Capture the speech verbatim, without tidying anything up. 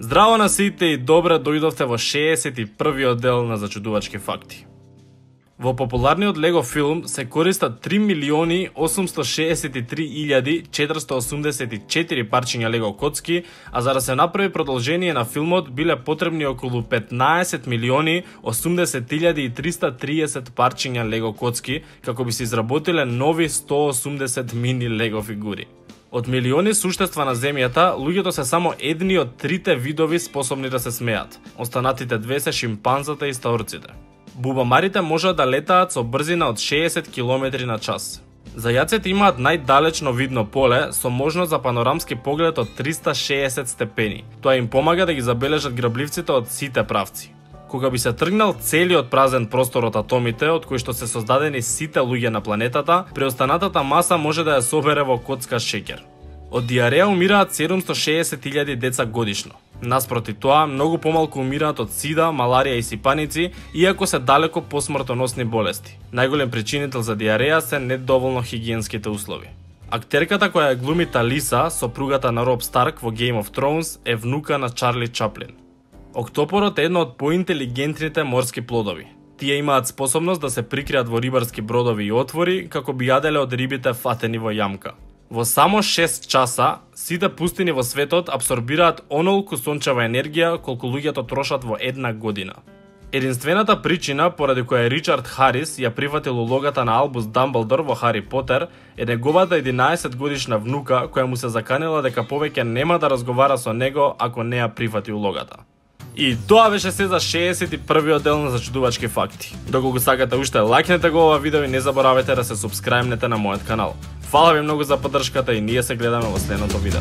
Здраво на сите и добре дојдовте во шеесет и првиот дел на Зачудувачки факти. Во популарниот Лего филм се користат три милиони осумсто шеесет и три илјади четиристо осумдесет и четири парчиња Лего коцки, а за да се направи продолжение на филмот биле потребни околу петнаесет милиони осумдесет илјади и триста триесет парчиња Лего коцки како би се изработиле нови сто осумдесет мини Лего фигури. Од милиони суштества на земјата, луѓето се само едни од трите видови способни да се смеат. Останатите две се шимпанзата и стаорците. Бубамарите можат да летаат со брзина од шеесет километри на час. Зајаците имаат најдалечно видно поле со можност за панорамски поглед од триста шеесет степени. Тоа им помага да ги забележат грабливците од сите правци. Кога би се тргнал целиот празен простор од атомите, од кои што се создадени сите луѓе на планетата, преостанатата маса може да ја собере во коцка шеќер. Од диареја умираат седумсто шеесет илјади деца годишно. Наспроти тоа, многу помалку умираат од сида, маларија и сипаници, иако се далеко посмртоносни болести. Најголем причинител за диареја се недоволно хигиенските услови. Актерката која ја глуми Талиса, сопругата на Роб Старк во Game of Thrones, е внука на Чарли Чаплин. Октопорот е едно од поинтелигентните морски плодови. Тие имаат способност да се прикријат во рибарски бродови и отвори, како би јаделе од рибите фатени во јамка. Во само шест часа, сите пустини во светот абсорбираат онолку сончева енергија колку луѓето трошат во една година. Единствената причина поради која Ричард Харис ја прифатил улогата на Албус Дамблдор во Хари Потер е неговата единаесет годишна внука која му се заканила дека повеќе нема да разговара со него ако не ја прифати улогата. И тоа беше се за шеесет и првиот дел на Зачудувачки факти. Доколку сакате уште, лајкнете го ова видео и не заборавајте да се супскрајбнете на мојот канал. Фала ви многу за поддршката и ние се гледаме во следното видео.